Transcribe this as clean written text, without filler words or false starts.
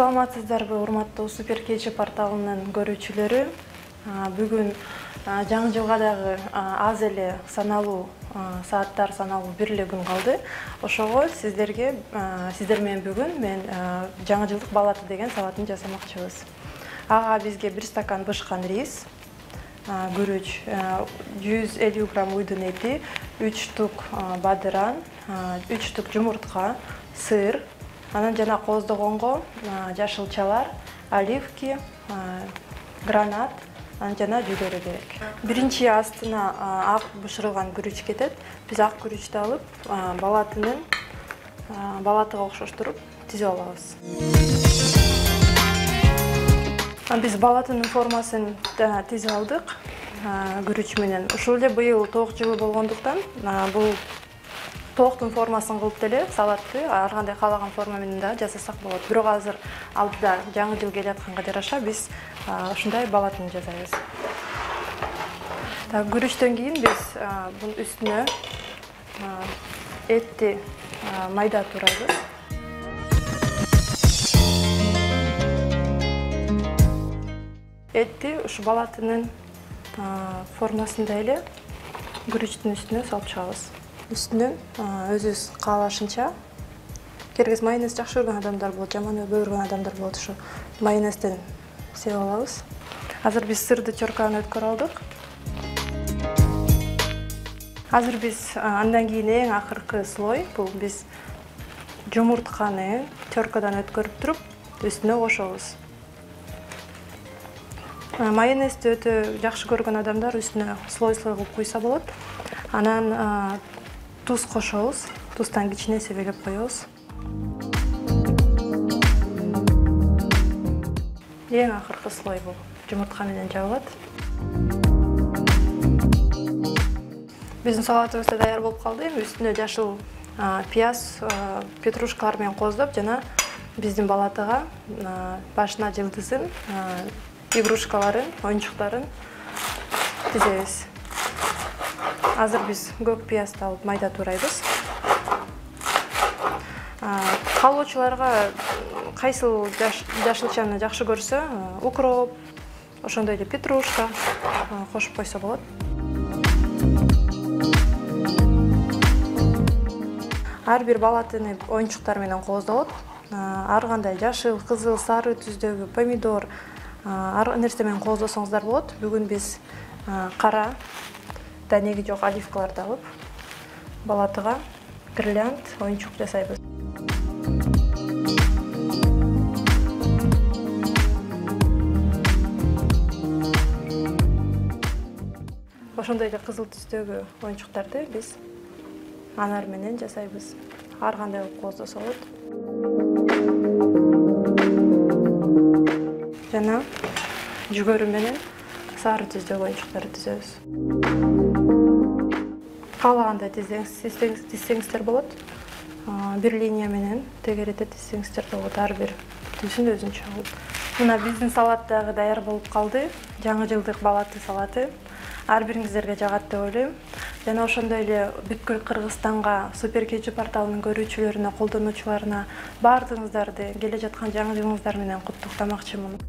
Саламатсыздарбы, урматтуу Супер Кечи порталынын көрүүчүлөрү. Бүгүн жаңы жылга дагы аз эле саналуу сааттар, саналуу бир эле күн калды. Ошого сиздер менен бүгүн мен жаңы жылдык балаты деген салатын жасамакчыбыз. Ага бизге 1 стакан бышкан рис, күрүч, 150 грамм уйдун эти, 3 штук бадыран, 3 штук жумуртка, сыр, анан жана кооздогонго жашылчалар, оливки, гранат, анан жана жүгөрү керек. Биринчи астына ак бышырылган күрүч кетет. Биз ак күрүчтү алып, балатыга окшоштуруп тизип алабыз. Биз балатынын формасын тизип алдык күрүч менен. Ушул эле быйыл тоок жылы болгондуктан бул тооктун формасын кылып деле салатты ар кандай каалаган форма менен да жасасак болот. Бирок азыр алдыда жаңы жыл келатканга жараша биз ушундай балатын жасайбыз. Күрүчтөн кийин биз бунун үстүнө этти майда турайбыз. Этти ушу балатынын формасында эле күрүчтүн үстүнө салып чыгабыз. Үстүнөн өзүбүз каалашынча, кергес майонез жакшы көргөн адамдар болот, жаман көргөн адамдар болот, ушу майонезден сеп алабыз. Азыр биз сырды чоркадан өткөрүп алдык. Азыр биз андан кийин эң акыркы слой, бул биз жумуртканы чоркадан өткөрүп туруп, үстүнө кошобуз. Майонезди өтө жакшы көргөн адамдар үстүнө слой-слой кылып куйса болот. Анан туз кошобуз. Туздан кичине себелеп коебуз. Эң акыркы слой бул жумуртка менен жабылат. Биздин салатыбыз да даяр болуп калды. Эми үстүнө жашыл пияз, петрушкалар менен кооздоп жана биздин балатыга башына жылдызын, игрушкаларын, оюнчуктарын тизебиз. Азыр биз көк пиязды алып майда турайбыз. Каалоочуларга кайсыл жашылчаны жакшы көрсө, укроп, ошондой эле петрушка кошуп койсо болот. Ар бир балатыны оюнчуктар менен кооздолот. Ар кандай жашыл, кызыл, сары түздөгү помидор ар нерсе менен кооздосоңуздар болот. Бүгүн биз кара, данеги жок оливкаларды алып, балатыга гирлянд оюнчук жасайбыз. Ошондой эле кызыл түстөгү оюнчуктарды биз анар менен жасайбыз. Ар кандай кылып кооздосо болот. Жана жүгөрү менен сары түздөгү оюнчуктарды түзөбүз. Каалагандай тизсеңиздер болот. Бир линия менен тегеретип тизсеңиздер болот. Ар бир түсүн өзүнчө алып. Мына биздин салат дагы даяр болуп калды. Жаңы жылдык балаты салаты. Ар бириңиздерге жагат деп ойлойм. Жана ошондой эле бүткүл Кыргызстанга Супер Кечи порталынын көрүүчүлөрүнө, колдонуучуларына баардыгыңыздарды келе жаткан жаңы жылыңыздар менен куттуктамакчымын.